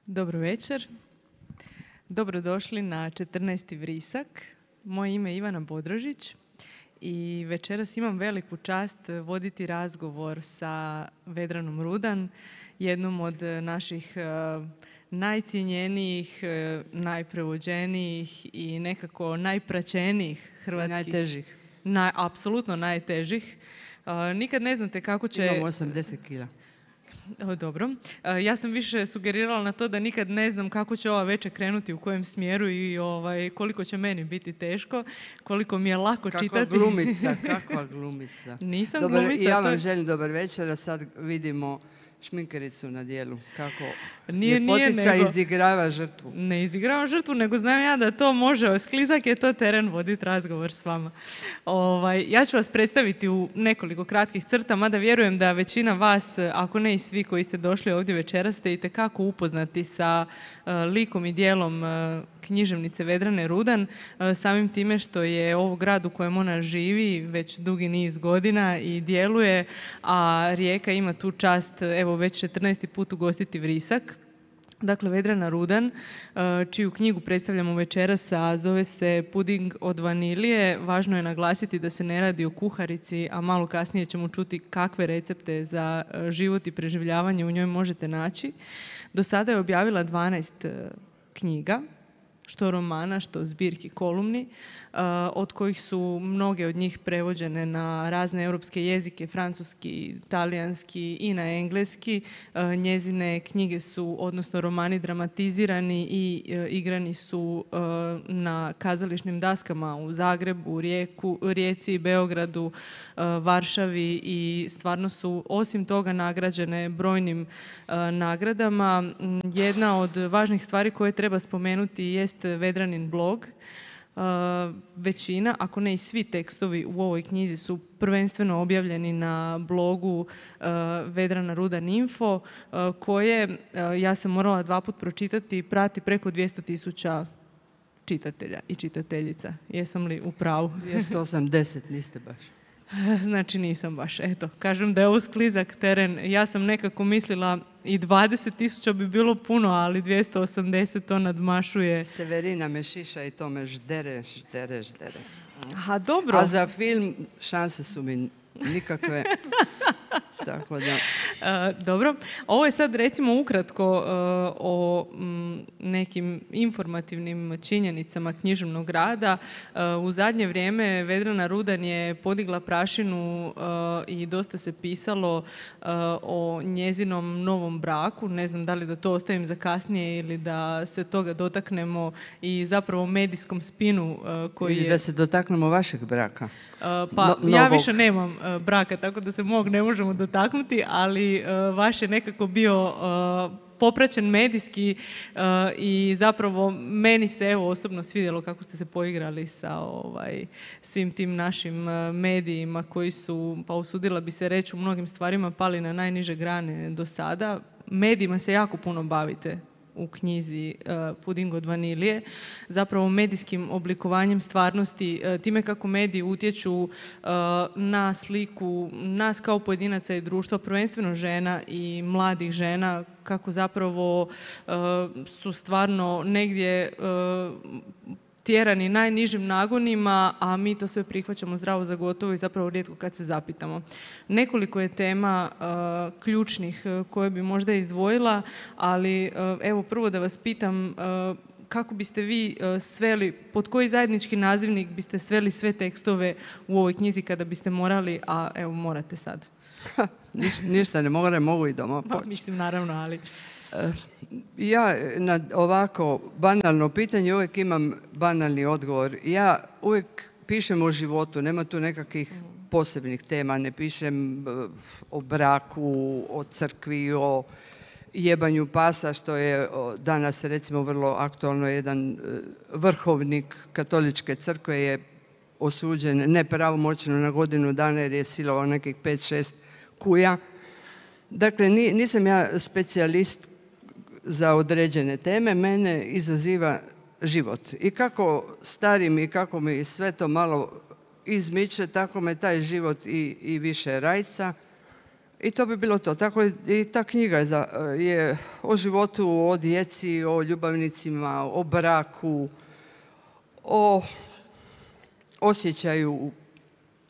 Dobro večer. Dobrodošli na 14. vrisak. Moje ime je Ivana Bodrožić i večeras imam veliku čast voditi razgovor sa Vedranom Rudan, jednom od naših najcijenjenijih, najprevođenijih i nekako najpraćenijih hrvatskih... Najtežih. Apsolutno najtežih. Nikad ne znate kako će... Imam 80 kila. Dobro. Ja sam više sugerirala na to da nikad ne znam kako će ova večer krenuti, u kojem smjeru i koliko će meni biti teško, koliko mi je lako čitati. Kakva glumica. Nisam dobar, glumica. Ja vam želim dobar večer, a sad vidimo šminkericu na dijelu. Kako ljepotica izigrava žrtvu. Ne izigrava žrtvu, nego znam ja da to može. Sklizak je to teren voditi razgovor s vama. Ja ću vas predstaviti u nekoliko kratkih crta, mada vjerujem da većina vas, ako ne i svi koji ste došli ovdje večeras, ste itekako upoznati sa likom i dijelom književnice Vedrane Rudan, samim time što je ovo grad u kojem ona živi već dugi niz godina i djeluje, a Rijeka ima tu čast, evo već 14. put ugostiti vrisak. Dakle, Vedrana Rudan, čiju knjigu predstavljamo večeras, a zove se Puding od vanilije. Važno je naglasiti da se ne radi o kuharici, a malo kasnije ćemo čuti kakve recepte za život i preživljavanje u njoj možete naći. Do sada je objavila 12 knjiga, što romana, što zbirki kolumni, od kojih su mnoge od njih prevođene na razne europske jezike, francuski, talijanski i na engleski. Njezine knjige su, odnosno romani, dramatizirani i igrani su na kazališnim daskama u Zagrebu, Rijeci, Beogradu, Varšavi i stvarno su osim toga nagrađene brojnim nagradama. Jedna od važnih stvari koje treba spomenuti jest Vedranin blog. Većina, ako ne i svi tekstovi u ovoj knjizi su prvenstveno objavljeni na blogu Vedrana Rudan Info, koje, ja sam morala 2 puta pročitati, prati preko 200.000 čitatelja i čitateljica. Jesam li u pravu? 280, niste baš. Znači nisam baš, eto. Kažem da je ovo sklizak teren. Ja sam nekako mislila i 20.000 bi bilo puno, ali 280 to nadmašuje. Severina me šiša i to me ždere. Aha, dobro. A za film šanse su mi nikakve. Tako da. Dobro. Ovo je sad recimo ukratko o nekim informativnim činjenicama književnog rada. U zadnje vrijeme Vedrana Rudan je podigla prašinu i dosta se pisalo o njezinom novom braku. Ne znam da li da to ostavim za kasnije ili da se toga dotaknemo i zapravo medijskom spinu koji ili da se dotaknemo vašeg braka. Pa ja više nemam braka, tako da se mog ne možemo dotaknuti, ali vaš je nekako bio popraćen medijski i zapravo meni se evo osobno svidjelo kako ste se poigrali sa svim tim našim medijima koji su, pa usudila bi se reći, u mnogim stvarima pali na najniže grane do sada. Medijima se jako puno bavite u knjizi Puding od vanilije, zapravo medijskim oblikovanjem stvarnosti, time kako mediji utječu na sliku nas kao pojedinaca i društva, prvenstveno žena i mladih žena, kako zapravo su stvarno negdje tjerani najnižim nagonima, a mi to sve prihvaćamo zdravo za gotovo i zapravo rijetko kad se zapitamo. Nekoliko je tema ključnih koje bi možda izdvojila, ali evo prvo da vas pitam kako biste vi sveli, pod koji zajednički nazivnik biste sveli sve tekstove u ovoj knjizi kada biste morali, a evo morate sad. Ništa ne mogu i doma poći. Mislim naravno, ali... Ja na ovako banalno pitanje uvijek imam banalni odgovor. Ja uvijek pišem o životu, nema tu nekakvih posebnih tema, ne pišem o braku, o crkvi, o jebanju pasa, što je danas recimo vrlo aktualno. Jedan vrhovnik katoličke crkve je osuđen nepravomoćno na godinu dana jer je silovao nekih 5-6 kuja. Dakle, nisam ja specijalist za određene teme, mene izaziva život. I kako starim i kako mi sve to malo izmiče, tako me taj život i više rajca. I to bi bilo to. Tako i ta knjiga je o životu, o djeci, o ljubavnicima, o braku, o osjećaju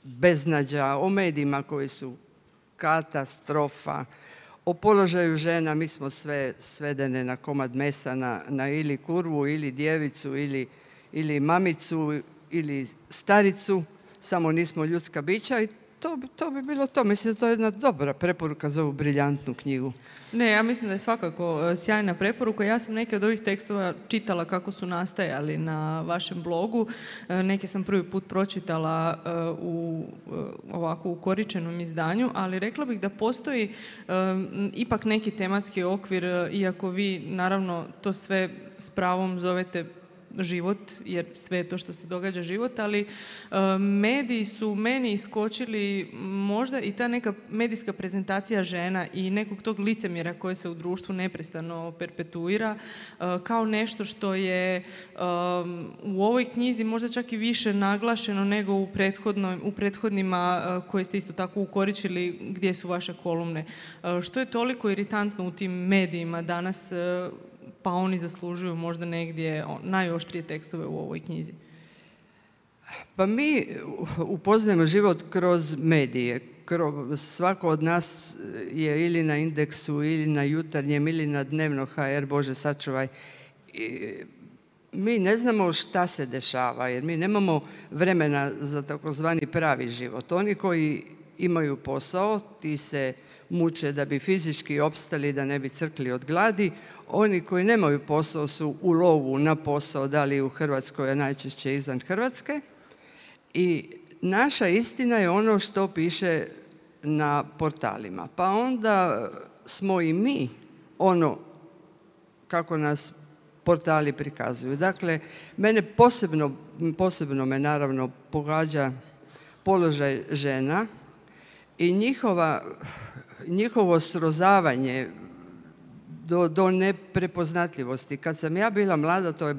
beznađa, o medijima koji su katastrofa, o položaju žena. Mi smo sve svedene na komad mesa, na ili kurvu, ili djevicu, ili mamicu, ili staricu, samo nismo ljudska bića i to bi bilo to. Mislim da to je jedna dobra preporuka za ovu briljantnu knjigu. Ne, ja mislim da je svakako sjajna preporuka. Ja sam neke od ovih tekstova čitala kako su nastajali na vašem blogu. Neke sam prvi put pročitala u ovako ukoričenom izdanju, ali rekla bih da postoji ipak neki tematski okvir, iako vi naravno to sve s pravom zovete život, jer sve je to što se događa život, ali mediji su meni iskočili možda i ta neka medijska prezentacija žena i nekog tog licemjera koje se u društvu neprestano perpetuira kao nešto što je u ovoj knjizi možda čak i više naglašeno nego u prethodnima koje ste isto tako ukoričili gdje su vaše kolumne. Što je toliko iritantno u tim medijima danas, pa oni zaslužuju možda negdje najoštrije tekstove u ovoj knjizi? Pa mi upoznajemo život kroz medije. Svako od nas je ili na Indeksu, ili na Jutarnjem, ili na Dnevno HR, Bože sačuvaj. Mi ne znamo šta se dešava, jer mi nemamo vremena za takozvani pravi život. Oni koji imaju posao, ti se muče da bi fizički opstali, da ne bi crkli od gladi. Oni koji nemaju posao su u lovu na posao, da li u Hrvatskoj, a najčešće izvan Hrvatske. I naša istina je ono što piše na portalima. Pa onda smo i mi ono kako nas portali prikazuju. Dakle, mene posebno me naravno pogađa položaj žena i njihovo srozavanje do neprepoznatljivosti. Kad sam ja bila mlada, to je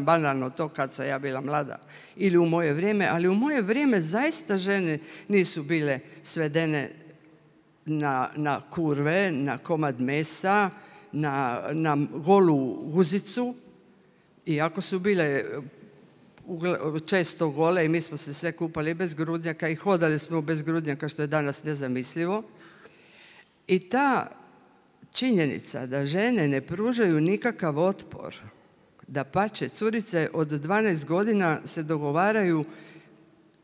banalno to kad sam ja bila mlada, ili u moje vrijeme, ali u moje vrijeme zaista žene nisu bile svedene na kurve, na komad mesa, na golu guzicu, iako su bile često gole i mi smo se sve kupali bez grudnjaka i hodali smo bez grudnjaka, što je danas nezamislivo. I ta činjenica da žene ne pružaju nikakav otpor, dapače, curice od 12 godina se dogovaraju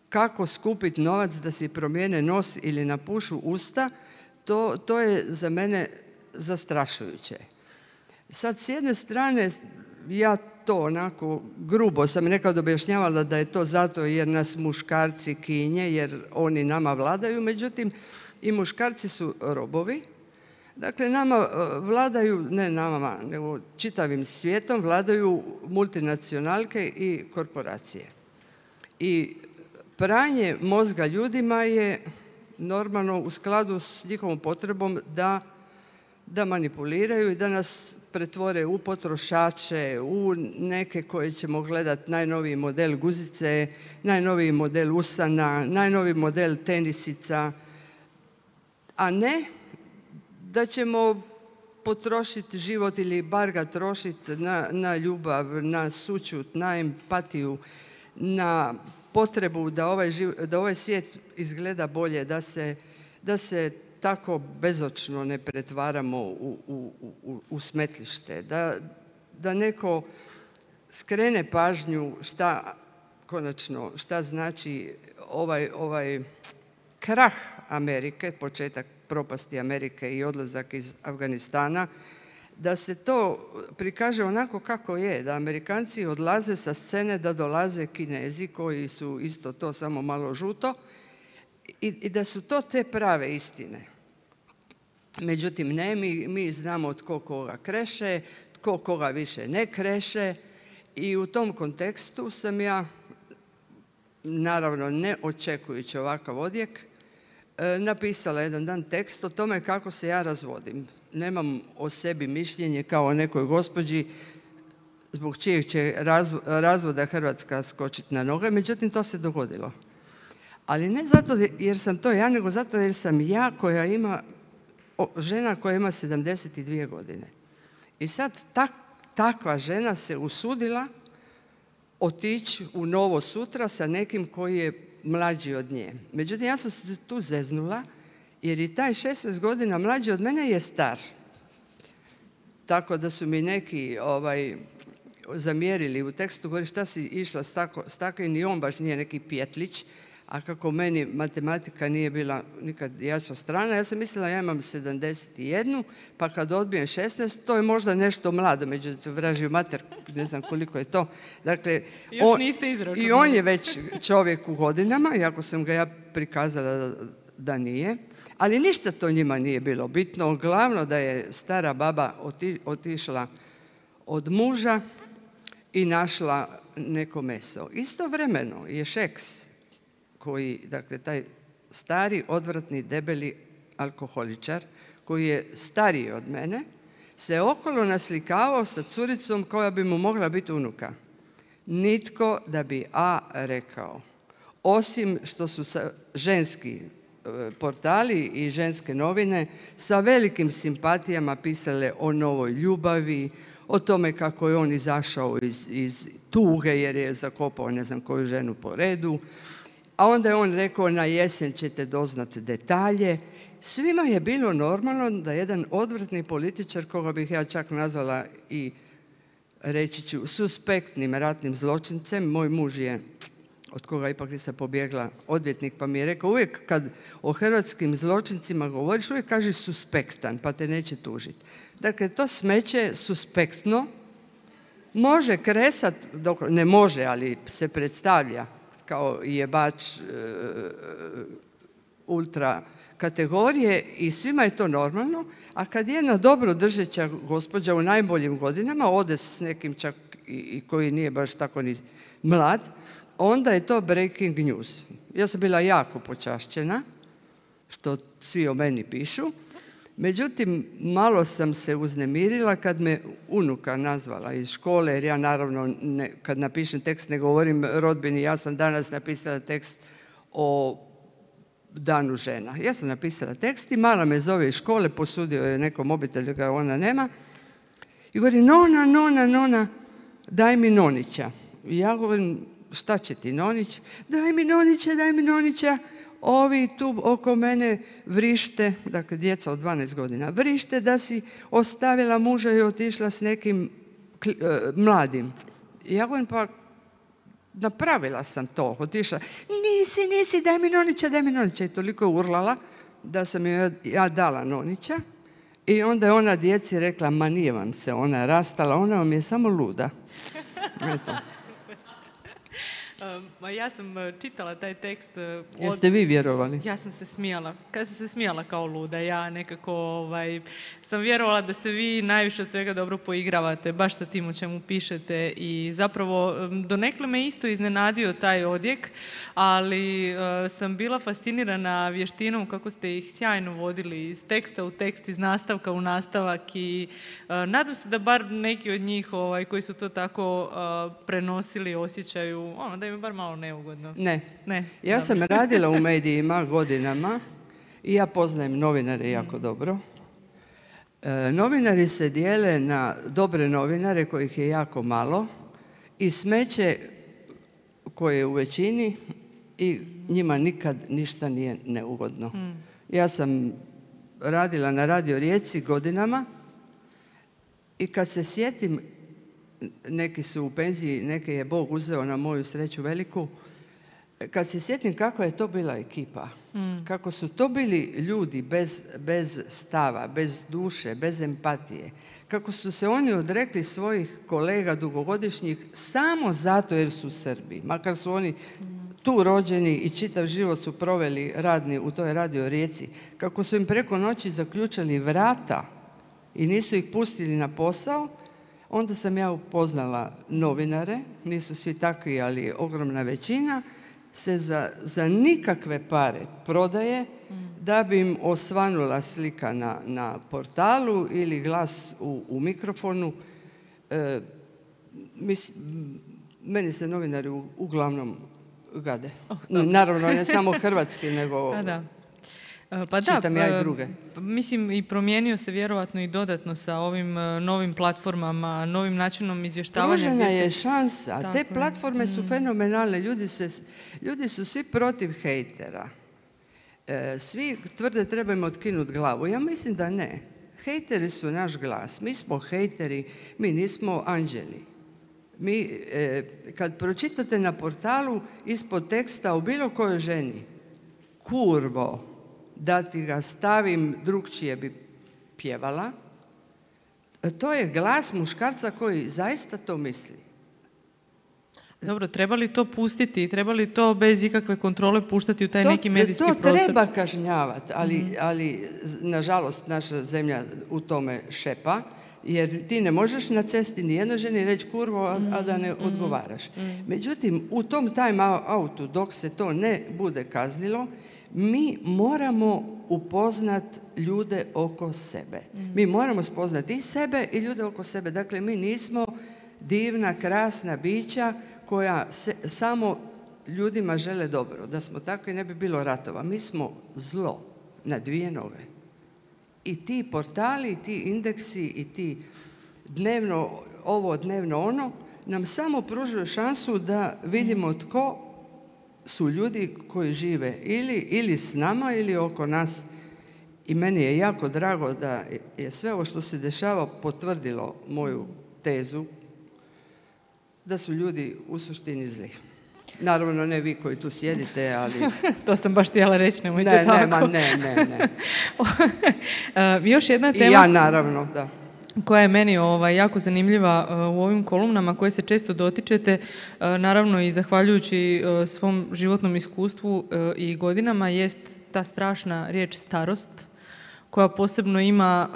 kako skupiti novac da si promijene nos ili napušu usta, to je za mene zastrašujuće. Sad, s jedne strane, ja to onako grubo sam nekad objašnjavala da je to zato jer nas muškarci kinje, jer oni nama vladaju, međutim i muškarci su robovi. Dakle, nama vladaju, ne nama, nego čitavim svijetom vladaju multinacionalke i korporacije. I pranje mozga ljudima je normalno u skladu s njihovom potrebom da manipuliraju i da nas pretvore u potrošače, u neke koje ćemo gledati najnoviji model guzice, najnoviji model usana, najnoviji model tenisica, a ne da ćemo potrošiti život ili bar ga trošiti na ljubav, na sućut, na empatiju, na potrebu da ovaj svijet izgleda bolje, da se tako bezočno ne pretvaramo u smetlište, da neko skrene pažnju šta znači ovaj krah Amerike, početak propasti Amerike i odlazak iz Afganistana, da se to prikaže onako kako je, da Amerikanci odlaze sa scene, da dolaze Kinezi koji su isto to, samo malo žuto, i da su to te prave istine. Međutim, ne, mi znamo tko koga kreše, tko koga više ne kreše i u tom kontekstu sam ja naravno ne očekujući ovakav odjek, napisala jedan dan tekst o tome kako se ja razvodim. Nemam o sebi mišljenje kao o nekoj gospođi zbog čijeg će razvoda Hrvatska skočiti na noge, međutim to se dogodilo. Ali ne zato jer sam to ja, nego zato jer sam ja žena koja ima 72 godine. I sad takva žena se usudila otići u novo sutra sa nekim koji je mlađi od nje. Međutim, ja sam se tu zeznula jer i taj 16 godina mlađi od mene je star. Tako da su mi neki zamjerili u tekstu, govori šta si išla s tako i ni on baš nije neki pjetlić, a kako meni matematika nije bila nikad jača strana, ja sam mislila ja imam 71, pa kad odbijem 16, to je možda nešto mlado, međutim vražiju mater, ne znam koliko je to. Dakle, i on je već čovjek u godinama, iako sam ga ja prikazala da nije, ali ništa to njima nije bilo bitno. Glavno da je stara baba otišla od muža i našla neko meso. Istovremeno je Šeks, koji, dakle, taj stari, odvratni, debeli alkoholičar, koji je stariji od mene, se okolo naslikavao sa curicom koja bi mu mogla biti unuka. Nitko da bi rekao. Osim što su ženski portali i ženske novine sa velikim simpatijama pisale o novoj ljubavi, o tome kako je on izašao iz tuge jer je zakopao ne znam koju ženu po redu, a onda je on rekao na jesen ćete doznati detalje. Svima je bilo normalno da jedan odvratni političar, koga bih ja čak nazvala i reći ću suspektnim ratnim zločincem, moj muž je, od koga ipak nisam pobjegla, odvjetnik, pa mi je rekao uvijek kad o hrvatskim zločincima govoriš, uvijek kaži suspektan, pa te neće tužiti. Dakle, to smeće suspektno može kresat, ne može, ali se predstavlja kao jebač ultra kategorije i svima je to normalno, a kad jedna dobro držeća gospođa u najboljim godinama ode s nekim čak i koji nije baš tako ni mlad, onda je to breaking news. Ja sam bila jako počašćena, što svi o meni pišu, međutim, malo sam se uznemirila kad me unuka nazvala iz škole, jer ja naravno kad napišem tekst ne govorim rodbini, ja sam danas napisala tekst o danu žena. Ja sam napisala tekst i mala me zove iz škole, posudio je neko mobitel jer ga ona nema i govori nona, daj mi nonića. I ja govorim, šta će ti nonić? Daj mi nonića. Ovi tu oko mene vrište, dakle djeca od 12 godina, vrište da si ostavila muža i otišla s nekim mladim. I ja govorim, pa napravila sam to, otišla. Nisi, daj mi nonića. I toliko je urlala da sam joj ja dala nonića. I onda je ona djeci rekla, ma nije vam se ona rastala, ona vam je samo luda. Eto. Ja sam čitala taj tekst. Jeste vi vjerovali? Ja sam se smijala. Kad sam se smijala kao luda, ja nekako sam vjerovala da se vi najviše od svega dobro poigravate, baš sa tim o čemu pišete i zapravo donekle me isto iznenadio taj odjek, ali sam bila fascinirana vještinom kako ste ih sjajno vodili iz teksta u tekst, iz nastavka u nastavak i nadam se da bar neki od njih koji su to tako prenosili osjećaju da im je bar malo neugodno. Ne. Ja sam radila u medijima godinama i ja poznajem novinare jako dobro. Novinari se dijele na dobre novinare kojih je jako malo i smeće koje je u većini i njima nikad ništa nije neugodno. Ja sam radila na Radio Rijeci godinama i kad se sjetim, neki su u penziji, neke je Bog uzeo na moju sreću veliku, kad se sjetim kakva je to bila ekipa, kako su to bili ljudi bez stava, bez duše, bez empatije, kako su se oni odrekli svojih kolega dugogodišnjih samo zato jer su Srbi, makar su oni tu rođeni i čitav život su proveli radni u toj Radio Rijeci, kako su im preko noći zaključali vrata i nisu ih pustili na posao. Onda sam ja upoznala novinare, nisu svi takvi, ali ogromna većina, se za nikakve pare prodaje da bi im osvanula slika na portalu ili glas u mikrofonu. Meni se novinari uglavnom gade. Naravno, ne samo hrvatski, nego čitam ja i druge. Mislim, i promijenio se vjerovatno i dodatno sa ovim novim platformama, novim načinom izvještavanja. Pružena je šansa. Te platforme su fenomenalne. Ljudi su svi protiv hejtera. Svi tvrde trebamo otkinuti glavu. Ja mislim da ne. Hejteri su naš glas. Mi smo hejteri, mi nismo anđeli. Kad pročitate na portalu ispod teksta o bilo kojoj ženi, kurvo, da ti ga stavim, drugčije bi pjevala, to je glas muškarca koji zaista to misli. Dobro, treba li to pustiti? Treba li to bez ikakve kontrole puštati u taj neki medijski prostor? To treba kažnjavati, ali nažalost naša zemlja u tome šepa, jer ti ne možeš na cesti nijednoj ženi reći kurvo, a da ne odgovaraš. Međutim, u tom time outu, dok se to ne bude kaznilo, mi moramo upoznat ljude oko sebe. Mi moramo spoznati i sebe i ljude oko sebe. Dakle, mi nismo divna, krasna bića koja samo ljudima žele dobro. Da smo takvi ne bi bilo ratova. Mi smo zlo na dvije noge. I ti portali, i ti indeksi, i ti dnevno ovo, dnevno ono, nam samo pružaju šansu da vidimo tko su ljudi koji žive ili s nama ili oko nas. I meni je jako drago da je sve ovo što se dešava potvrdilo moju tezu da su ljudi u suštini zli. Naravno, ne vi koji tu sjedite, ali... To sam baš htjela reći, nemojte tako. Ne. Još jedna tema... I ja, naravno, da. Koja je meni jako zanimljiva u ovim kolumnama koje se često dotičete, naravno i zahvaljujući svom životnom iskustvu i godinama, jest ta strašna riječ starost, koja posebno ima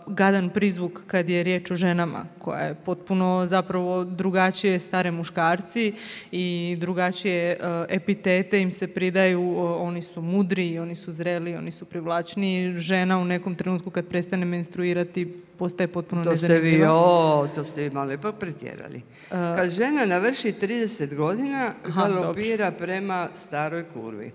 gadan prizvuk kad je riječ o ženama, koja je potpuno zapravo drugačije stare muškarci i drugačije epitete im se pridaju, oni su mudri, oni su zreli, oni su privlačni. Žena u nekom trenutku kad prestane menstruirati postaje potpuno nezanimljiva. To ste vi malo ipak pretjerali. Kad žena navrši 30 godina, galopira prema staroj kurvi.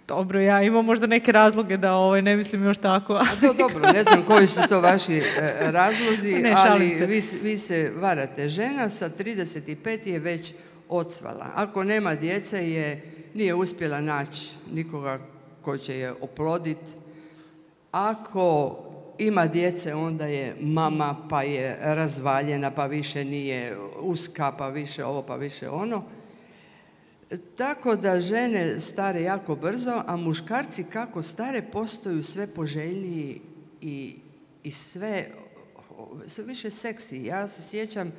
Dobro, ja imam možda neke razloge da ne mislim još tako. Dobro, ne znam koji su to vaši razlozi, ali vi se varate. Žena sa 35 je već odsvala. Ako nema djece, nije uspjela naći nikoga ko će je oploditi. Ako ima djece, onda je mama, pa je razvaljena, pa više nije uska, pa više ovo, pa više ono. Tako da žene stare jako brzo, a muškarci kako stare postaju sve poželjniji i sve više seksi. Ja se sjećam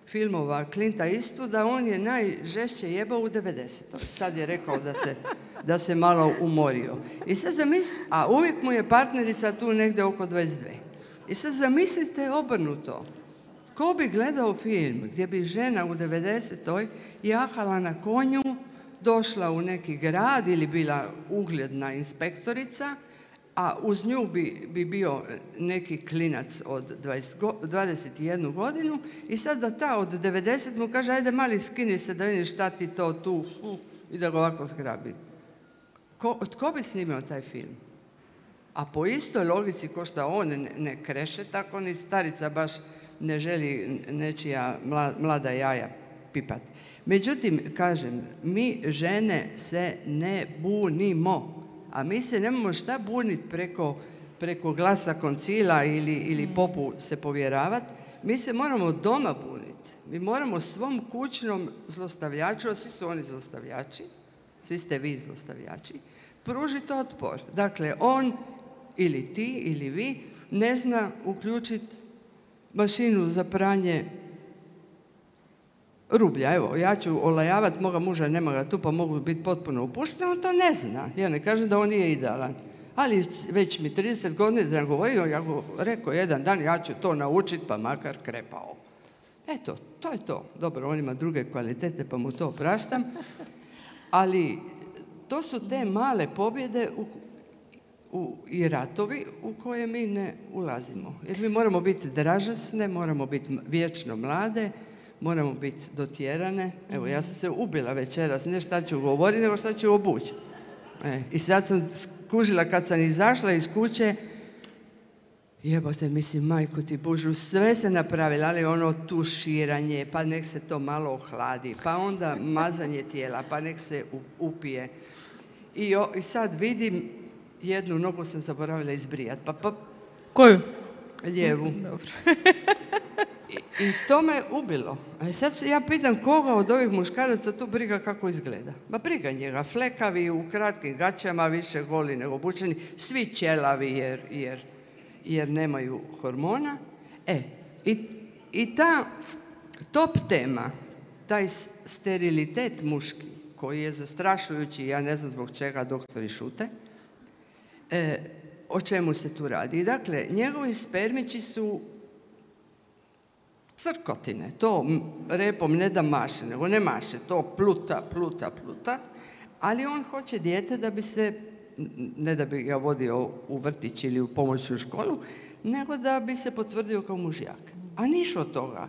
filmova Clint'a Eastwooda, on je najžešće jebao u 90. Sad je rekao da se malo umorio. I sad a uvijek mu je partnerica tu negdje oko 22. I sad zamislite obrnuto. Ko bi gledao film gdje bi žena u 90. jahala na konju, došla u neki grad ili bila ugledna inspektorica, a uz nju bi bio neki klinac od 21 godinu i sad da ta od 90 mu kaže ajde mali skini se da vidiš šta ti to tu i da ga ovako zgrabi. Tko bi snimio taj film? A po istoj logici ko što on ne kreše, tako ni starica baš ne želi nečija mlada jaja pipat. Međutim, kažem, mi žene se ne bunimo, a mi se nemamo šta buniti preko glasa koncila ili popu se povjeravati. Mi se moramo doma buniti. Mi moramo svom kućnom zlostavljaču, a svi su oni zlostavljači, svi ste vi zlostavljači, pružiti otpor. Dakle, on ili ti ili vi ne zna uključiti mašinu za pranje rublja. Evo, ja ću olajavati moga muža, nema ga tu, pa mogu biti potpuno upušten, on to ne zna. Ja ne kažem da on nije idealan. Ali već mi 30 godina govorio, ja go rekao jedan dan, ja ću to naučiti, pa makar krepao. Eto, to je to. Dobro, on ima druge kvalitete, pa mu to praštam. Ali to su te male pobjede i ratovi u koje mi ne ulazimo. Jer mi moramo biti dražasne, moramo biti vječno mlade, moramo biti dotjerane. Evo, ja sam se ubila večeras, ne šta ću govoriti, nego šta ću obući. I sad sam skužila kad sam izašla iz kuće, jebote, mislim, majku ti Božu, sve se napravila, ali ono tuširanje, pa nek se to malo ohladi, pa onda mazanje tijela, pa nek se upije. I sad vidim, jednu nogu sam zaboravila izbrijati. Pa. Koju? Lijevu. Dobro. I to me ubilo. A sad se ja pitam koga od ovih muškaraca tu briga kako izgleda. Ma briga njega, flekavi u kratkim gaćama, više goli nego obučeni, svi ćelavi jer nemaju hormona. I ta top tema, taj sterilitet muški, koji je zastrašujući, ja ne znam zbog čega doktori šute, o čemu se tu radi. Dakle, njegovi spermići su crkotine, to repom ne da maše, nego ne maše, to pluta, ali on hoće dijete da bi se, ne da bi ga vodio u vrtić ili u pomoćnu školu, nego da bi se potvrdio kao mužjak. A niš od toga.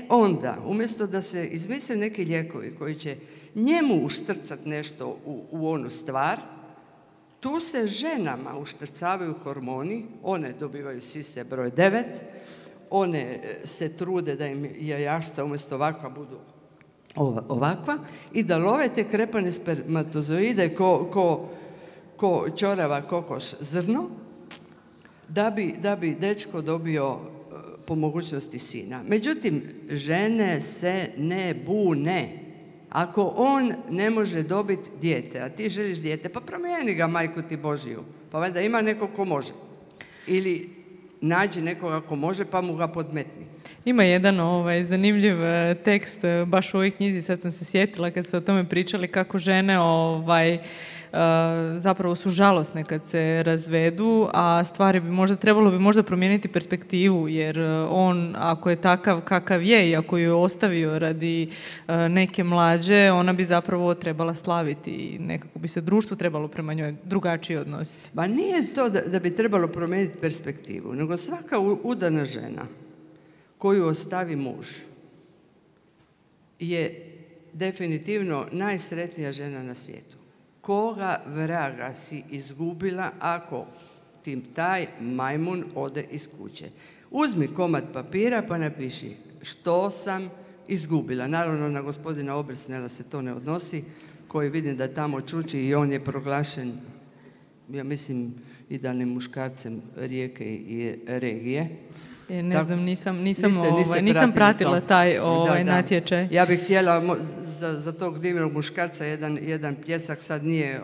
Onda, umjesto da se izmisle neki lijekovi koji će njemu uštrcati nešto u onu stvar, tu se ženama uštrcavaju hormoni, one dobivaju sise broj 9, one se trude da im jajašca umjesto ovakva budu ovakva i da love te krepane spermatozoide ko ćorava kokoš zrno, da bi dečko dobio po mogućnosti sina. Međutim, žene se ne bune. Ako on ne može dobiti dijete, a ti želiš dijete, pa promijeni ga, majku ti Božiju. Pa valjda ima neko ko može. Ili nađi nekoga ko može, pa mu ga podmetni. Ima jedan zanimljiv tekst baš u ovoj knjizi, sad sam se sjetila kad ste o tome pričali, kako žene zapravo su žalosne kad se razvedu, a trebalo bi možda promijeniti perspektivu, jer on, ako je takav kakav je i ako ju je ostavio radi neke mlađe, ona bi zapravo trebala slaviti i nekako bi se društvo trebalo prema njoj drugačije odnositi. Ba nije to da bi trebalo promijeniti perspektivu, nego svaka udana žena koju ostavi muž je definitivno najsretnija žena na svijetu. Koga vraga si izgubila ako ti taj majmun ode iz kuće? Uzmi komad papira pa napiši što sam izgubila. Naravno, na gospodina Obrsnela se to ne odnosi, koji vidim da tamo čuči i on je proglašen, ja mislim, idealnim muškarcem Rijeke i regije. Ne znam, nisam pratila taj natječaj. Ja bih htjela za tog divnog muškarca jedan pljesak, sad nije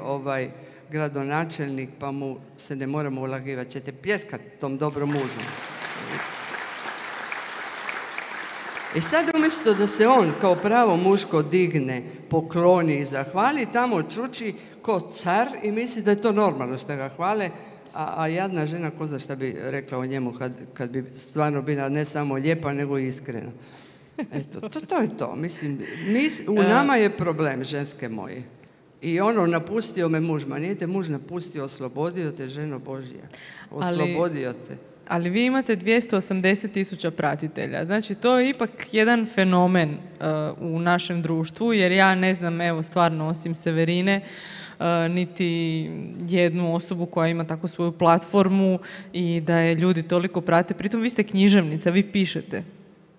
gradonačelnik, pa mu se ne moramo ulagivati. Ćete pljeskati tom dobrom mužu. I sad umjesto da se on kao pravo muško digne, pokloni i zahvali, tamo čuči ko car i misli da je to normalno što ga hvale, a jadna žena, ko zna šta bi rekla o njemu kad bi stvarno bila ne samo lijepa, nego i iskrena. Eto, to je to. Mislim, u nama je problem, ženske moje. I napustio me muž, ma nije te muž napustio, oslobodio te, ženo Božja. Oslobodio te. Ali vi imate 280.000 pratitelja. Znači, to je ipak jedan fenomen u našem društvu, jer ja ne znam, evo, stvarno, osim Severine, niti jednu osobu koja ima tako svoju platformu i da je ljudi toliko prate. Pritom vi ste književnica, vi pišete.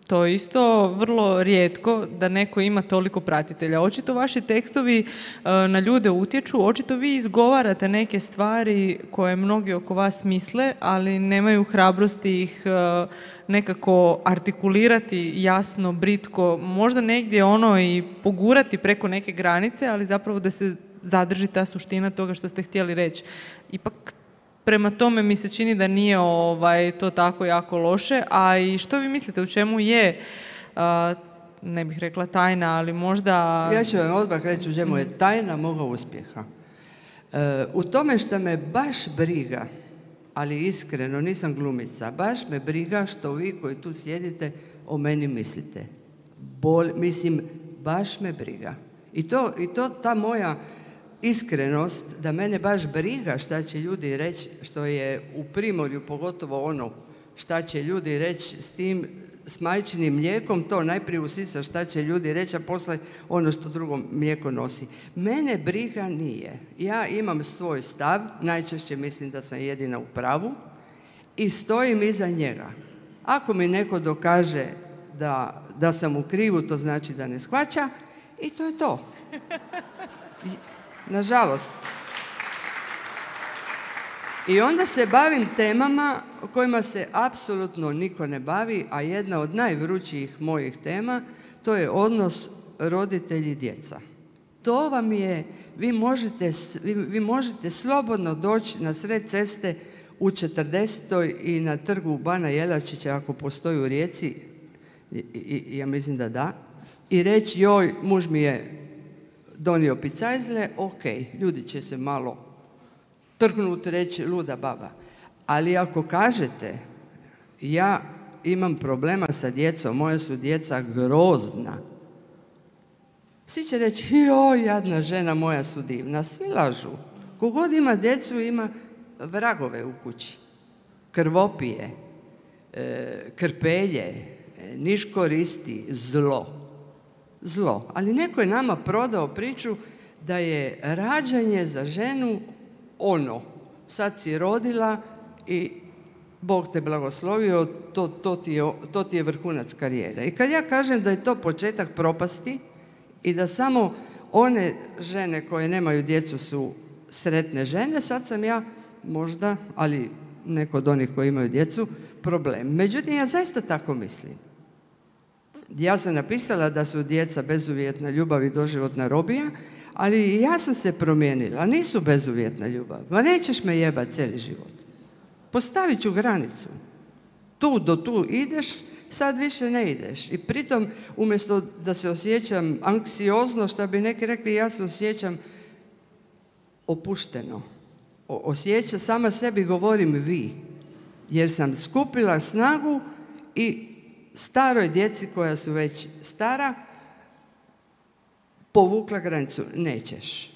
To je isto vrlo rijetko da neko ima toliko pratitelja. Očito vaši tekstovi na ljude utječu, očito vi izgovarate neke stvari koje mnogi oko vas misle, ali nemaju hrabrosti ih nekako artikulirati jasno, britko, možda negdje i pogurati preko neke granice, ali zapravo da se zadrži ta suština toga što ste htjeli reći. Ipak prema tome mi se čini da nije to tako jako loše. A i što vi mislite, u čemu je, ne bih rekla tajna, ali možda... Ja ću vam odmah reći u čemu je tajna moga uspjeha. U tome što me baš briga, ali iskreno, nisam glumica, baš me briga što vi koji tu sjedite o meni mislite. Mislim, baš me briga. I to ta moja iskrenost, da mene baš briga šta će ljudi reći, što je u Primorju pogotovo ono šta će ljudi reći s majčinim mlijekom, to najprije usisa šta će ljudi reći, a posle ono što drugo mlijeko nosi. Mene briga nije. Ja imam svoj stav, najčešće mislim da sam jedina u pravu i stojim iza njega. Ako mi neko dokaže da sam u krivu, to znači da ne shvaća i to je to. Nažalost. I onda se bavim temama kojima se apsolutno niko ne bavi, a jedna od najvrućijih mojih tema, to je odnos roditelji-djeca. To vam je, vi možete slobodno doći na sred ceste u 40. i na trgu Bana Jelačića, ako postoji u Rijeci, ja mislim da, i reći, joj, muž mi je donio picajzle, ok, ljudi će se malo trknuti, reći luda baba. Ali ako kažete, ja imam problema sa djecom, moja su djeca grozna, svi će reći, joj, jadna žena, moja su divna. Svi lažu. Kogod ima djecu, ima vragove u kući. Krvopije, krpelje, niš koristi, zlo. Ali neko je nama prodao priču da je rađanje za ženu ono. Sad si rodila i Bog te blagoslovio, to ti je vrhunac karijere. I kad ja kažem da je to početak propasti i da samo one žene koje nemaju djecu su sretne žene, sad sam ja možda, ali neko od onih koji imaju djecu, problem. Međutim, ja zaista tako mislim. Ja sam napisala da su djeca bezuvjetna ljubav i doživotna robija, ali ja sam se promijenila. Nisu bezuvjetna ljubav. Ma nećeš me jebati cijeli život. Postavit ću granicu. Tu do tu ideš, sad više ne ideš. I pritom, umjesto da se osjećam anksiozno, što bi neki rekli, ja se osjećam opušteno. Sama sebi govorim vi. Jer sam skupila snagu i staroj djeci koja su već stara povukla granicu. Nećeš.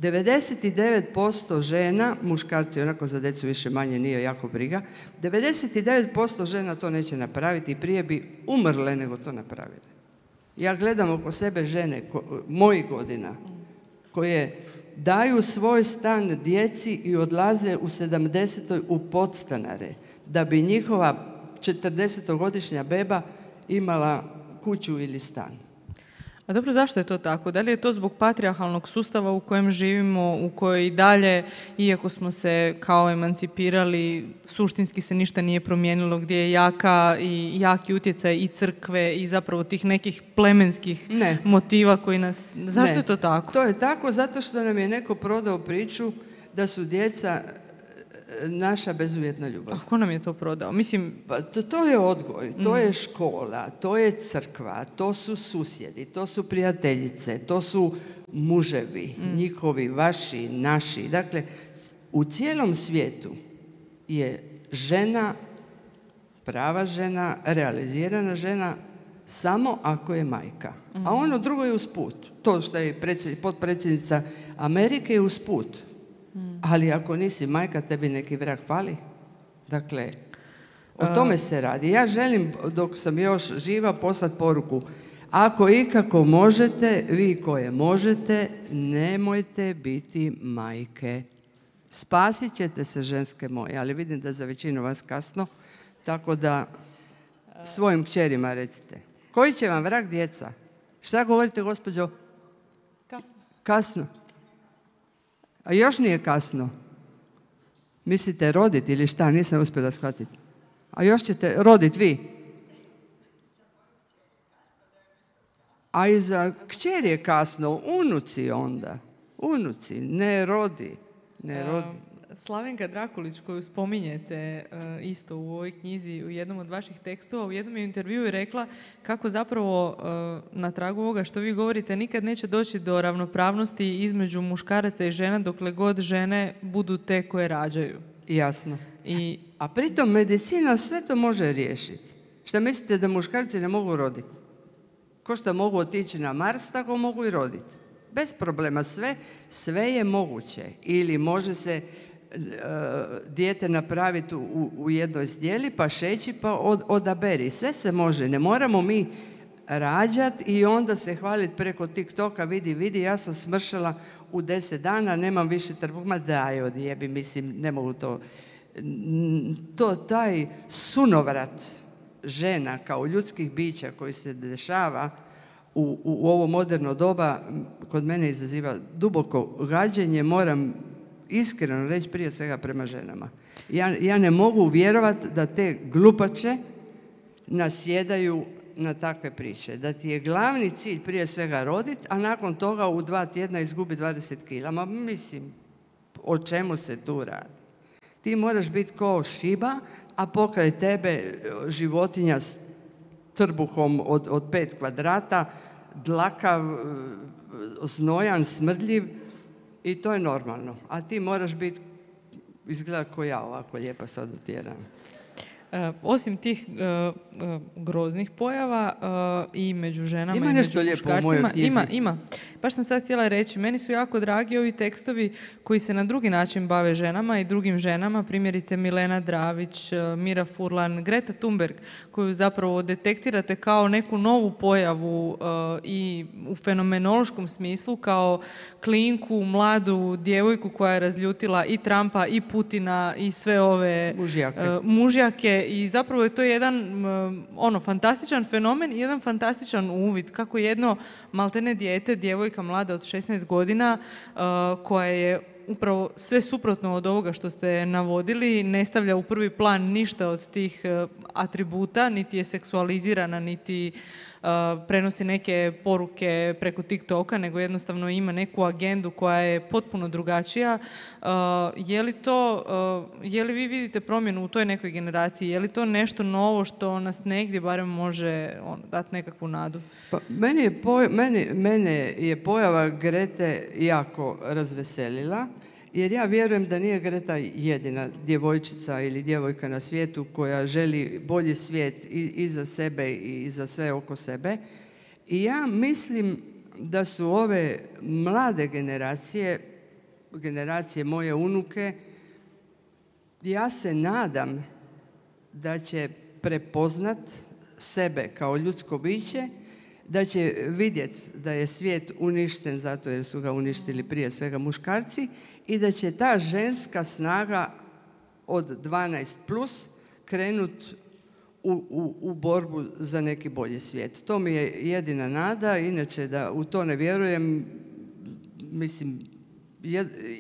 99% žena, muškarci onako za djecu više manje nije jako briga, 99% žena to neće napraviti i prije bi umrle nego to napravile. Ja gledam oko sebe žene mojih godina koje daju svoj stan djeci i odlaze u 70. u podstanare da bi njihova 40-godišnja beba imala kuću ili stan. A dobro, zašto je to tako? Da li je to zbog patrijarhalnog sustava u kojem živimo, u kojoj i dalje, iako smo se kao emancipirali, suštinski se ništa nije promijenilo, gdje je jaki utjecaj i crkve i zapravo tih nekih plemenskih motiva koji nas... Zašto je to tako? To je tako zato što nam je neko prodao priču da su djeca naša bezuvjetna ljubav. A ko nam je to prodao? Mislim... Pa, to je odgoj, to je škola, to je crkva, to su susjedi, to su prijateljice, to su muževi, njihovi, vaši, naši. Dakle, u cijelom svijetu je žena, prava žena, realizirana žena samo ako je majka. A ono drugo je usput. To što je potpredsjednica Amerike je usput. Ali ako nisi majka, tebi neki vrag fali. Dakle, o tome se radi. Ja želim, dok sam još živa, poslati poruku. Ako ikako možete, vi koje možete, nemojte biti majke. Spasit ćete se, ženske moje, ali vidim da za većinu vas kasno, tako da svojim kćerima recite. Koji će vam vrag djeca? Šta govorite, gospođo? Kasno. A još nije kasno. Mislite roditi ili šta? Nisam uspjela shvatiti. A još ćete roditi vi. A i za kćer je kasno. Unuci onda. Unuci. Ne rodi. Slavenka Drakulić, koju spominjete isto u ovoj knjizi, u jednom od vaših tekstova, u jednom intervjuu je rekla kako zapravo na tragu ovoga što vi govorite nikad neće doći do ravnopravnosti između muškaraca i žena dokle god žene budu te koje rađaju. Jasno. A pritom medicina sve to može riješiti. Šta mislite da muškarci ne mogu roditi? Ko što mogu otići na Mars, tako mogu i roditi. bez problema, sve je moguće. Ili može se dijete napraviti u jednoj zdjeli, pa šeći, pa odaberi. Sve se može, ne moramo mi rađati i onda se hvaliti preko TikToka, vidi, ja sam smršala u 10 dana, nemam više trbuha. Ma daj, odjebi, mislim, ne mogu to. Taj sunovrat žena kao ljudskih bića koji se dešava u ovo moderno doba, kod mene izaziva duboko gađenje, moram iskreno reći, prije svega prema ženama. Ja ne mogu vjerovati da te glupače nasjedaju na takve priče. Da ti je glavni cilj prije svega roditi, a nakon toga u 2 tjedna izgubi 20 kila. Ma mislim, o čemu se tu radi? Ti moraš biti ko šiba, a pokraj tebe životinja s trbuhom od 5 kvadrata, dlakav, znojan, smrdljiv i to je normalno. A ti moraš biti, izgleda ko ja ovako lijepa sad utjeram. Osim tih groznih pojava i među ženama ima i nešto među muškarcima, ima. Baš sam sad htjela reći, meni su jako dragi ovi tekstovi koji se na drugi način bave ženama i drugim ženama, primjerice Milena Dravić, Mira Furlan, Greta Thunberg, koju zapravo detektirate kao neku novu pojavu i u fenomenološkom smislu, kao klinku, mladu djevojku koja je razljutila i Trumpa i Putina i sve ove mužjake. I zapravo je to jedan fantastičan fenomen i jedan fantastičan uvid kako jedno maltene dijete, djevojka mlada od 16 godina koja je upravo sve suprotno od ovoga što ste navodili, ne stavlja u prvi plan ništa od tih atributa, niti je seksualizirana, niti prenosi neke poruke preko TikToka, nego jednostavno ima neku agendu koja je potpuno drugačija. Je li vi vidite promjenu u toj nekoj generaciji? Je li to nešto novo što nas negdje barem može dati nekakvu nadu? Pa, mene je pojava Grete jako razveselila, jer ja vjerujem da nije Greta jedina djevojčica ili djevojka na svijetu koja želi bolji svijet i za sebe i za sve oko sebe. I ja mislim da su ove mlade generacije moje unuke, ja se nadam da će prepoznat sebe kao ljudsko biće, da će vidjeti da je svijet uništen zato jer su ga uništili prije svega muškarci i da će ta ženska snaga od 12 plus krenuti u borbu za neki bolji svijet. To mi je jedina nada, inače da u to ne vjerujem, mislim,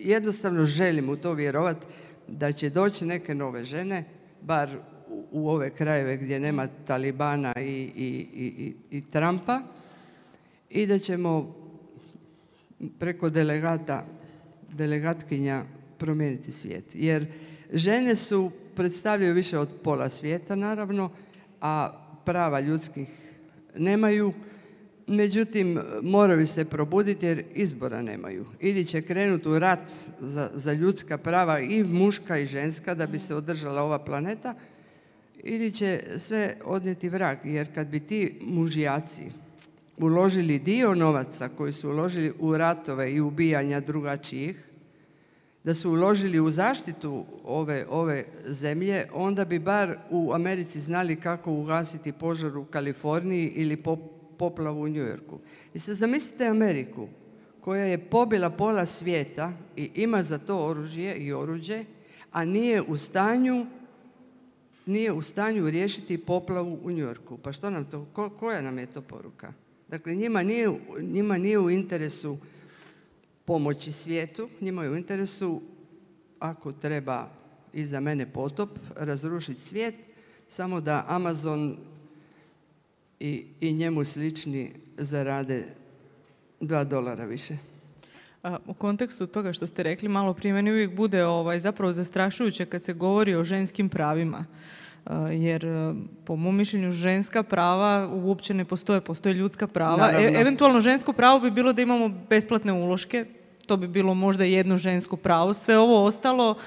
jednostavno želim u to vjerovati da će doći neke nove žene, bar u ove krajeve gdje nema Talibana i Trumpa i da ćemo preko delegatkinja promijeniti svijet. Jer žene predstavljaju više od pola svijeta naravno, a prava ljudskih nemaju. Međutim, moraju se probuditi jer izbora nemaju. Ili će krenuti u rat za ljudska prava i muška i ženska da bi se održala ova planeta, ili će sve odnijeti vrag. Jer kad bi ti mužjaci uložili dio novaca koji su uložili u ratove i ubijanja drugačijih, da su uložili u zaštitu ove zemlje, onda bi bar u Americi znali kako ugasiti požar u Kaliforniji ili poplavu u New Yorku. I sad zamislite Ameriku koja je pobila pola svijeta i ima za to oružje i oruđe, a nije u stanju riješiti poplavu u New Yorku. Pa što nam to, koja nam je to poruka? Dakle, njima nije u interesu pomoći svijetu, njima je u interesu, ako treba i za mene potop, razrušiti svijet, samo da Amazon i njemu slični zarade $2 više. U kontekstu toga što ste rekli malo prije, meni uvijek bude zapravo zastrašujuće kad se govori o ženskim pravima. Jer po mom mišljenju ženska prava uopće ne postoje ljudska prava. Eventualno žensko pravo bi bilo da imamo besplatne uloške, to bi bilo možda jedno žensko pravo. Sve ovo ostalo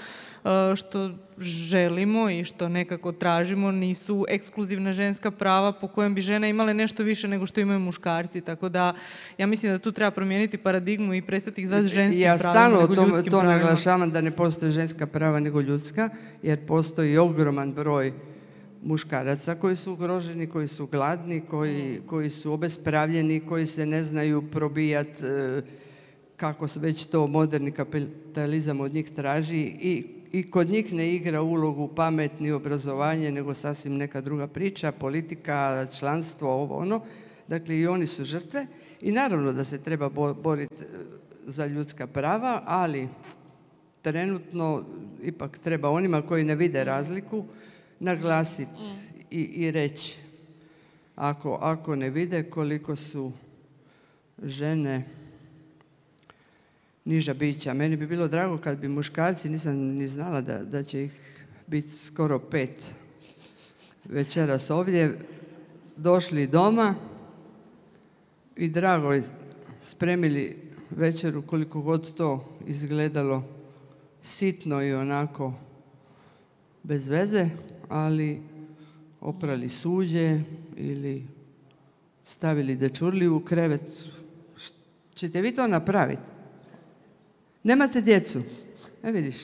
što želimo i što nekako tražimo nisu ekskluzivna ženska prava po kojem bi žene imale nešto više nego što imaju muškarci. Tako da ja mislim da tu treba promijeniti paradigmu i prestati ih zvati ženskim pravima nego ljudskim pravima. Ja stalno to naglašavam da ne postoje ženska prava nego ljudska, jer postoji ogroman broj muškaraca koji su ugroženi, koji su gladni, koji su obespravljeni, koji se ne znaju probijati kako već to moderni kapitalizam od njih traži i kod njih ne igra ulogu pamet ni obrazovanje, nego sasvim neka druga priča, politika, članstvo, ovo ono. Dakle, i oni su žrtve i naravno da se treba boriti za ljudska prava, ali trenutno ipak treba onima koji ne vide razliku naglasiti i reći ako ne vide koliko su žene niža bića. Meni bi bilo drago kad bi muškarci, nisam ni znala da će ih biti skoro 5 večeras ovdje, došli doma i drago spremili večeru koliko god to izgledalo sitno i onako bez veze, ali oprali suđe ili stavili dečurliju u krevet. Ćete vi to napraviti? Nemate djecu? Vidiš,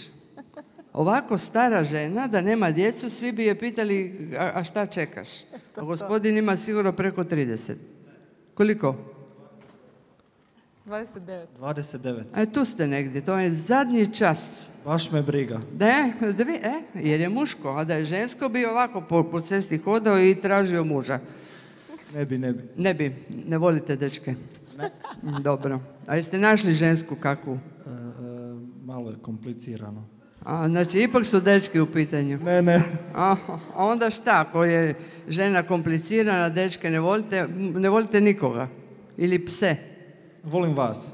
ovako stara žena da nema djecu, svi bi je pitali a šta čekaš? A gospodin ima sigurno preko 30. Koliko? 29. Tu ste negdje, to je zadnji čas. Baš me briga. Jer je muško, a da je žensko bi ovako po cesti hodao i tražio muža. Ne bi. Ne volite dečke? Ne. Dobro. A jeste našli žensku kakvu? Malo je komplicirano. Znači, ipak su dečki u pitanju. Ne. A onda šta, ako je žena komplicirana, dečke ne volite nikoga? Ili pse? Volim vas.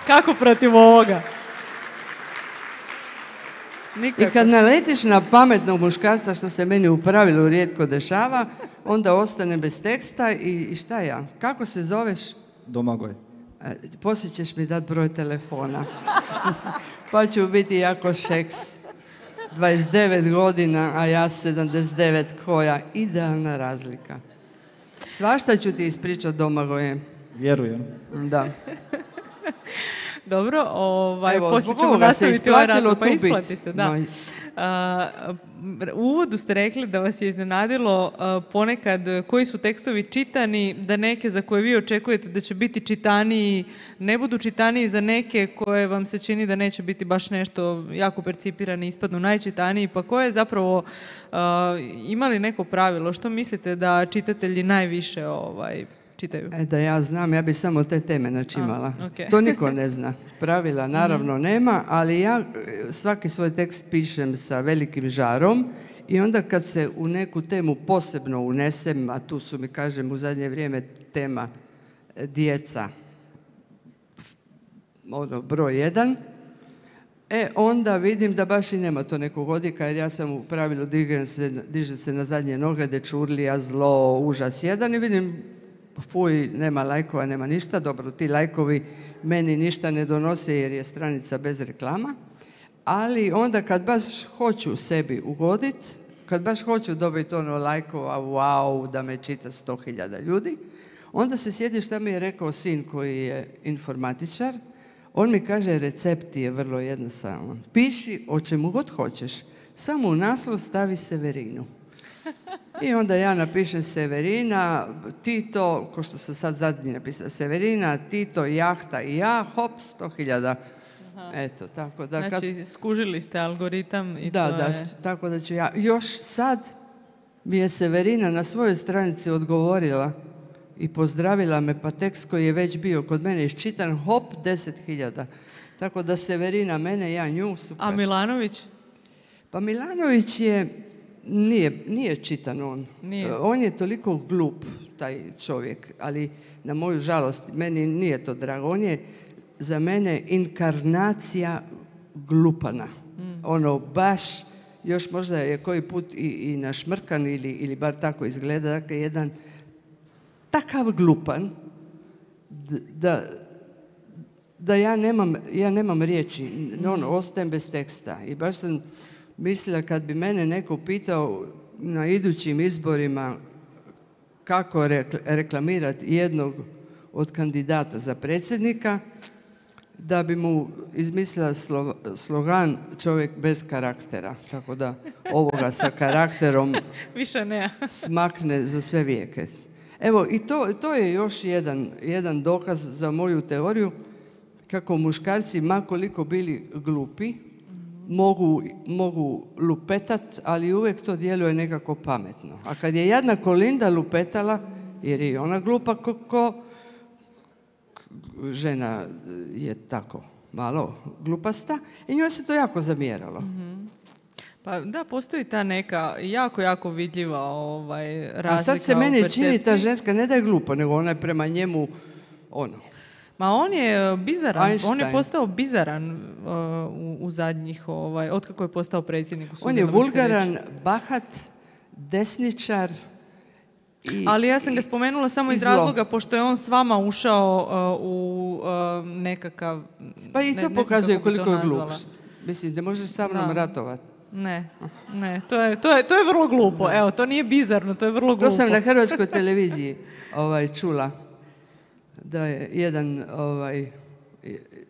Kako protiv ovoga? Nikako. I kad naletiš na pametnog muškarca, što se meni u pravilu rijetko dešava, onda ostane bez teksta i šta ja? Kako se zoveš? Domagoj. Poslije ćeš mi dati broj telefona. Pa ću biti jako šeks. 29 godina, a ja 79, koja idealna razlika. Svašta ću ti ispričati, Domagoje. Vjerujem. Da. Dobro, poslije ćemo nastaviti ovaj razlog, pa isplati se, da. U uvodu ste rekli da vas je iznenadilo ponekad koji su tekstovi čitani, da neke za koje vi očekujete da će biti čitaniji, ne budu čitaniji, za neke koje vam se čini da neće biti baš nešto jako percipirani, ispadnu najčitaniji, pa koje je zapravo imali neko pravilo? Što mislite da čitatelji najviše čitaju? Da ja znam, ja bi samo te teme načimala. Okay. To niko ne zna. Pravila naravno nema, ali ja svaki svoj tekst pišem sa velikim žarom i onda kad se u neku temu posebno unesem, a tu su mi, kažem, u zadnje vrijeme tema djeca, broj 1, onda vidim da baš i nema to nekog odjeka, jer ja sam u pravilu dižem se na zadnje noge, dečurlija, zlo, užas 1 i vidim fuj, nema lajkova, nema ništa. Dobro, ti lajkovi meni ništa ne donose jer je stranica bez reklama, ali onda kad baš hoću sebi ugoditi, kad baš hoću dobiti lajkova, wow, da me čita 100.000 ljudi, onda se sjeti šta mi je rekao sin koji je informatičar. On mi kaže, recept je vrlo jednostavan. Piši o čemu god hoćeš, samo u naslov stavi Severinu. I onda ja napišem Severina, Tito, ko što sam sad zadnji napisala, Severina, Tito, jahta i ja, hop, 100.000. Eto, tako da... Znači, skužili ste algoritam i da, to je... tako da ću ja... Još sad mi je Severina na svojoj stranici odgovorila i pozdravila me, pa tekst koji je već bio kod mene iščitan, hop, 10.000. Tako da Severina mene, ja nju, super. A Milanović? Pa Milanović nije čitan on. Nije. On je toliko glup, taj čovjek, ali na moju žalost, meni nije to drago. On je za mene inkarnacija glupana. Baš, još možda je koji put i našmrkan ili bar tako izgleda, dakle jedan da ja nemam riječi, ostajem bez teksta. I baš sam mislila kad bi mene neko pitao na idućim izborima kako reklamirati jednog od kandidata za predsjednika, da bi mu izmislila slogan čovjek bez karaktera. Tako da ovoga sa karakterom više ne. smakne za sve vijeke. Evo, i to je još jedan dokaz za moju teoriju kako muškarci, makoliko bili glupi, mogu lupetat, ali uvijek to djeluje nekako pametno. A kad je jadna Kolinda lupetala, jer je ona glupa ko žena je tako malo glupasta, i njoj se to jako zamjeralo. Pa da, postoji ta neka jako vidljiva razlika. A sad se meni čini ta ženska ne da je glupa, nego ona je prema njemu Ma on je bizaran, Einstein. On je postao bizaran u zadnjih, otkako je postao predsjednik. On je vulgaran, bahat, desničar. Ali ja sam ga spomenula samo iz razloga pošto je on s vama ušao u nekakav... Pa i to pokazuje koliko je glup. Mislim, ne možeš sa mnom ratovati. Ne, to je vrlo glupo. Evo, to nije bizarno, to je vrlo glupo. To sam na hrvatskoj televiziji čula. Da je jedan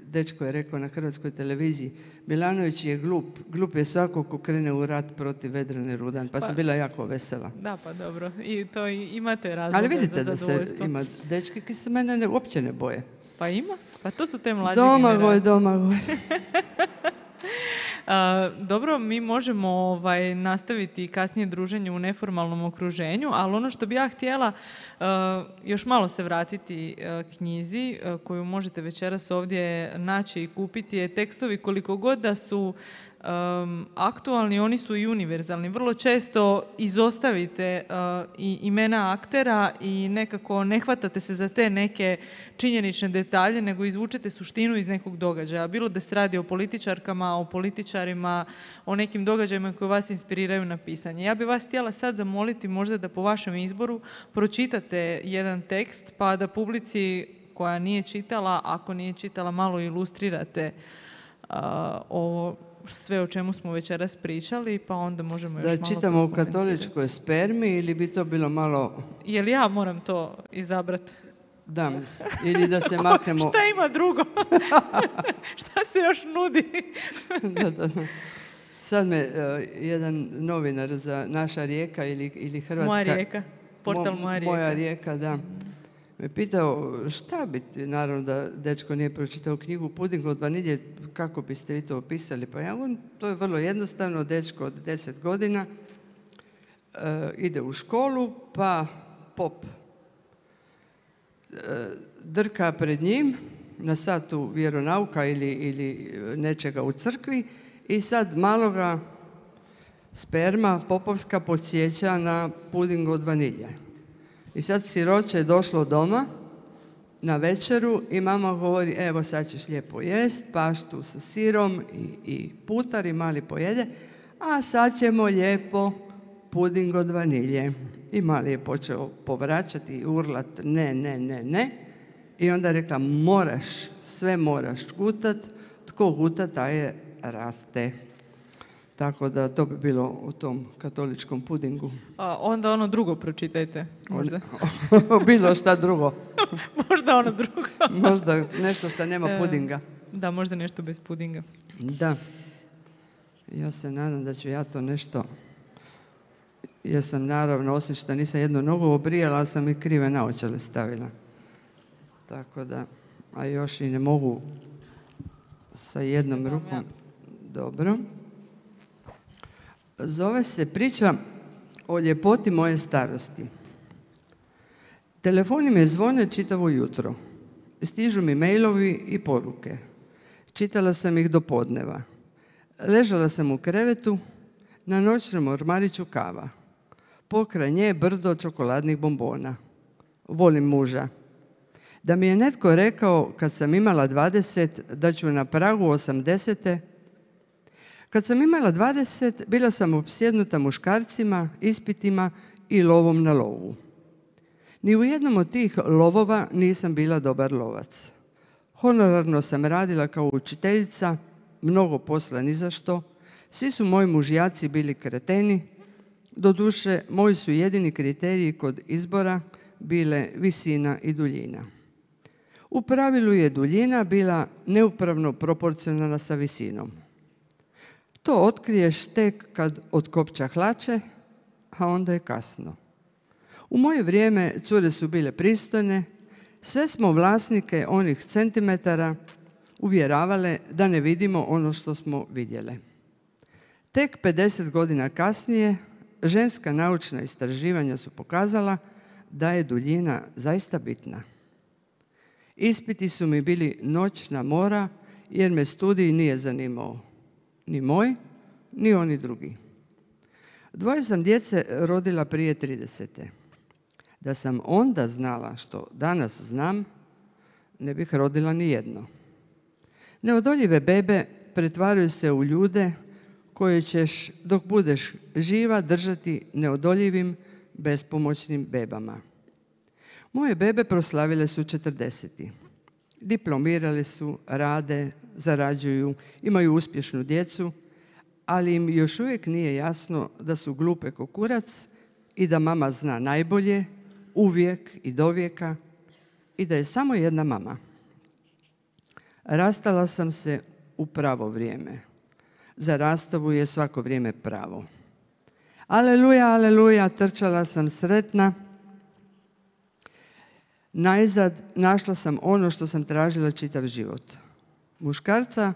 dečko je rekao na hrvatskoj televiziji, Milanović je glup. Glup je svako ko krene u rat protiv Vedrane Rudan. Pa sam bila jako vesela. Da, pa dobro. I to imate razloga za zadovoljstvo. Ali vidite da se ima dečki koji se mene uopće ne boje. Pa ima. Pa to su te mlađe generacije. Domagoj. Dobro, mi možemo nastaviti kasnije druženje u neformalnom okruženju, ali ono što bi ja htjela još malo se vratiti knjizi koju možete večeras ovdje naći i kupiti je tekstovi koliko god da su aktualni, oni su i univerzalni. Vrlo često izostavite i imena aktera i nekako ne hvatate se za te neke činjenične detalje, nego izvučete suštinu iz nekog događaja. Bilo da se radi o političarkama, o političarima, o nekim događajima koji vas inspiriraju na pisanje. Ja bih vas htjela sad zamoliti možda da po vašem izboru pročitate jedan tekst, pa da publici koja nije čitala, ako nije čitala, malo ilustrirate ovo sve o čemu smo večeras pričali, pa onda možemo još malo... Da čitamo u katoličkoj spermi ili bi to bilo malo... Jel ja moram to izabrati? Da, ili da se maknemo... Šta ima drugo? Šta se još nudi? Da. Sad me jedan novinar za Naša Rijeka ili Hrvatska... Moja Rijeka, portal Moja Rijeka. Moja Rijeka, da. Me pitao šta bi, naravno da dečko nije pročitao knjigu Puding od vanilje, kako biste vi to opisali? Pa to je vrlo jednostavno, dečko od 10 godina ide u školu, pa pop drka pred njim na satu vjeronauka ili nečega u crkvi i sad maloga sperma popovska podsjeća na puding od vanilje. I sad siroče je došlo doma na večeru i mama govori, evo sad ćeš lijepo jest, paštu sa sirom i putar i mali pojede, a sad ćemo lijepo puding od vanilje. I mali je počeo povraćati i urlat ne. I onda je rekla, sve moraš gutat, tko guta taj je raste. Tako da to bi bilo u tom katoličkom pudingu. Onda ono drugo pročitajte, možda. Bilo šta drugo. Možda ono drugo. Možda nešto što nema pudinga. Da, možda nešto bez pudinga. Da. Ja se nadam da ću ja to nešto... Ja sam naravno, osim što nisam jednu nogu obrijala, ali sam i krive naočale stavila. Tako da, a još i ne mogu sa jednom rukom. Dobro. Zove se priča o ljepoti moje starosti. Telefoni me zvone čitavo jutro. Stižu mi mailovi i poruke. Čitala sam ih do podneva. Ležala sam u krevetu, na noćnom ormariću kava. Pokraj nje brdo čokoladnih bombona. Volim muža. Da mi je netko rekao kad sam imala 20 da ću na pragu 80. Kad sam imala 20, bila sam opsjednuta muškarcima, ispitima i lovom na lovu. Ni u jednom od tih lovova nisam bila dobar lovac. Honorarno sam radila kao učiteljica, mnogo posla ni za što. Svi su moji mužjaci bili kreteni. Doduše, moji su jedini kriteriji kod izbora bile visina i duljina. U pravilu je duljina bila neupravno proporcionalna sa visinom. To otkriješ tek kad otkopča hlače, a onda je kasno. U moje vrijeme cure su bile pristojne, sve smo vlasnike onih centimetara uvjeravale da ne vidimo ono što smo vidjele. Tek 50 godina kasnije ženska naučna istraživanja su pokazala da je duljina zaista bitna. Ispiti su mi bili noćna mora jer me studij nije zanimao. Ni moj, ni oni drugi. 2 sam djece rodila prije 30. Da sam onda znala što danas znam, ne bih rodila ni jedno. Neodoljive bebe pretvaraju se u ljude koje ćeš, dok budeš živa, držati neodoljivim, bespomoćnim bebama. Moje bebe proslavile su 40. Diplomirale su, rade, zarađuju, imaju uspješnu djecu, ali im još uvijek nije jasno da su glupe ko kurac i da mama zna najbolje, uvijek i dovijeka i da je samo jedna mama. Rastala sam se u pravo vrijeme. Za rastavu je svako vrijeme pravo. Aleluja, aleluja, trčala sam sretna. Najzad našla sam ono što sam tražila čitav život. Muškarca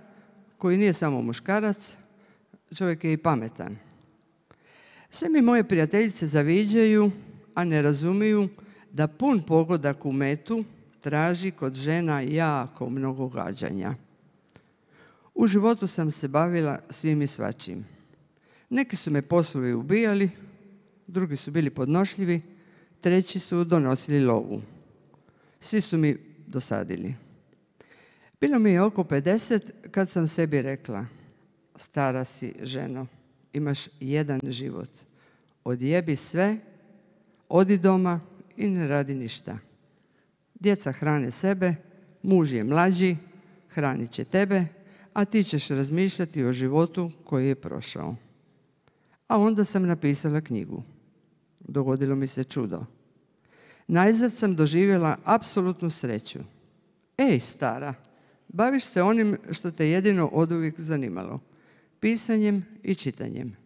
koji nije samo muškarac, čovjek je i pametan. Sve mi moje prijateljice zaviđaju, a ne razumiju da pun pogodak u metu traži kod žena jako mnogo gađanja. U životu sam se bavila svim i svačim. Neki su me poslovi ubijali, drugi su bili podnošljivi, treći su donosili lovu. Svi su mi dosadili. Bilo mi je oko 50 kad sam sebi rekla: stara si ženo, imaš jedan život. Odjebi sve, odi doma i ne radi ništa. Djeca hrane sebe, muž je mlađi, hranit će tebe, a ti ćeš razmišljati o životu koji je prošao. A onda sam napisala knjigu. Dogodilo mi se čudo. Najzad sam doživjela apsolutnu sreću. Ej, stara, baviš se onim što te jedino oduvijek zanimalo. Pisanjem i čitanjem.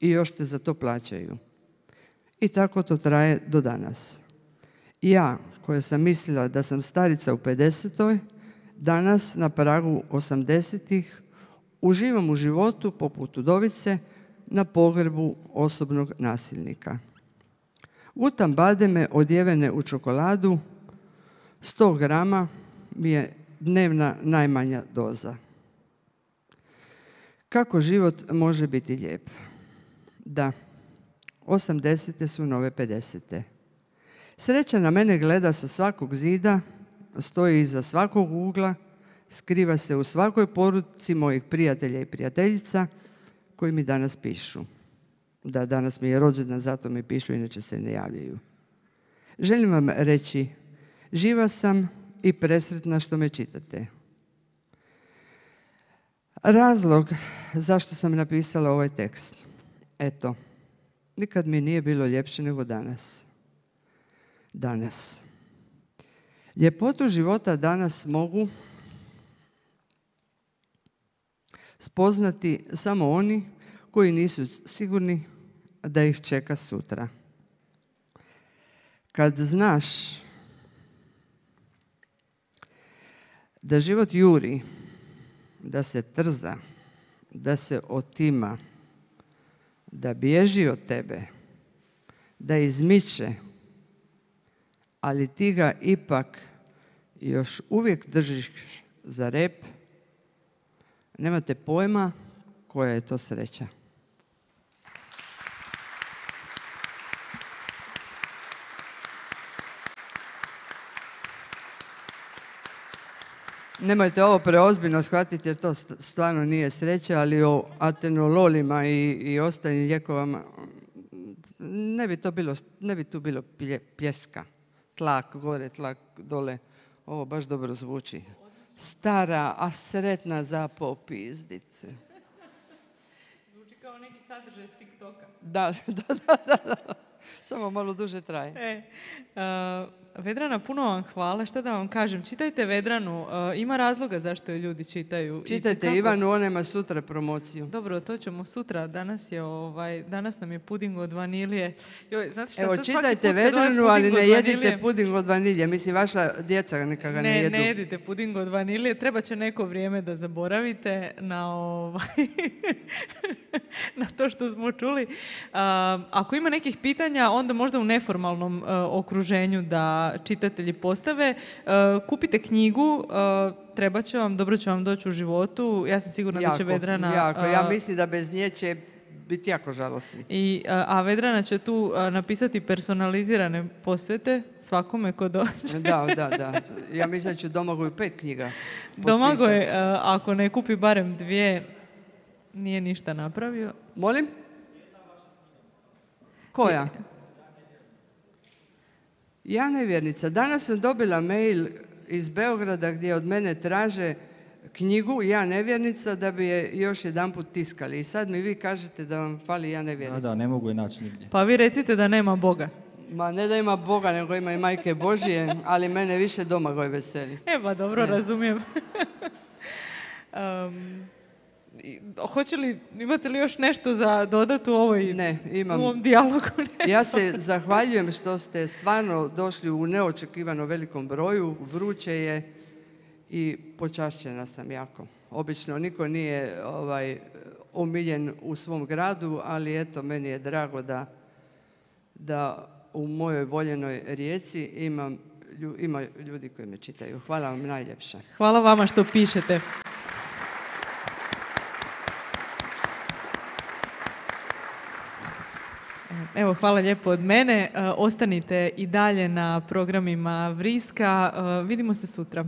I još te za to plaćaju. I tako to traje do danas. Ja, koja sam mislila da sam starica u 50. danas na pragu 80-ih uživam u životu poput udovice na pogrbu osobnog nasilnika. Gutam bademe odjevene u čokoladu, 100 grama mi je dnevna najmanja doza. Kako život može biti lijep? Da, 80. su nove 50. Sreća na mene gleda sa svakog zida, stoji iza svakog ugla, skriva se u svakoj poruci mojih prijatelja i prijateljica koji mi danas pišu. Da, danas mi je rođendan, zato mi pišu, inače se ne javljaju. Želim vam reći, živa sam i presretna što me čitate. Razlog zašto sam napisala ovaj tekst. Eto, nikad mi nije bilo ljepše nego danas. Danas. Ljepotu života danas mogu spoznati samo oni koji nisu sigurni da ih čeka sutra. Kad znaš da život juri, da se trza, da se otima, da bježi od tebe, da izmiče, ali ti ga ipak još uvijek držiš za rep, nemate pojma koja je to sreća. Nemojte ovo preozbiljno shvatiti jer to stvarno nije sreća, ali o atenololima i ostalim lijekovama ne bi tu bilo pljeska. Tlak gore, tlak dole. Ovo baš dobro zvuči. stara, a sretna za popizdice. Zvuči kao neki sadržaj s TikToka. Da. Samo malo duže traje. Vedrana, puno vam hvala. Šta da vam kažem? Čitajte Vedranu. Ima razloga zašto je ljudi čitaju. Čitajte Ivanu, ona ima sutra promociju. Dobro, to ćemo sutra. Danas nam je puding od vanilije. Joj, znate šta, Evo, sad čitajte svaki put kad Vedranu, ovaj ali puding ne od jedite vanilije- puding od vanilje. Mislim, vaša djeca neka ga ne jedu. Ne jedite puding od vanilije, treba će neko vrijeme da zaboravite na to što smo čuli. Ako ima nekih pitanja, onda možda u neformalnom okruženju da čitatelji postave. Kupite knjigu, treba će vam, dobro će vam doći u životu. Ja sam sigurna da će Vedrana... Jako. Ja mislim da bez nje će biti jako žalosni. A Vedrana će tu napisati personalizirane posvete svakome ko dođe. Da. Ja mislim da ću Domagoju 5 knjiga potpisati. Domagoj, ako ne kupi barem 2, nije ništa napravio. Molim? Koja? Ja nevjernica. Danas sam dobila mail iz Beograda gdje od mene traže knjigu Ja nevjernica da bi je još jedanput tiskali. I sad mi vi kažete da vam fali Ja nevjernica. Da, ne mogu je naći nigdje. Pa vi recite da nema Boga. Ma ne da ima Boga, nego ima i Majke Božije, ali mene više Domagoj veseli. Pa dobro, razumijem. Imate li još nešto za dodati u ovom dijalogu? Ja se zahvaljujem što ste stvarno došli u neočekivano velikom broju, vruće je i počašćena sam jako. Obično niko nije omiljen u svom gradu, ali eto, meni je drago da u mojoj voljenoj Rijeci ima ljudi koji me čitaju. Hvala vam najljepša. Hvala vama što pišete. Evo, hvala lijepo od mene. Ostanite i dalje na programima Vriska. Vidimo se sutra.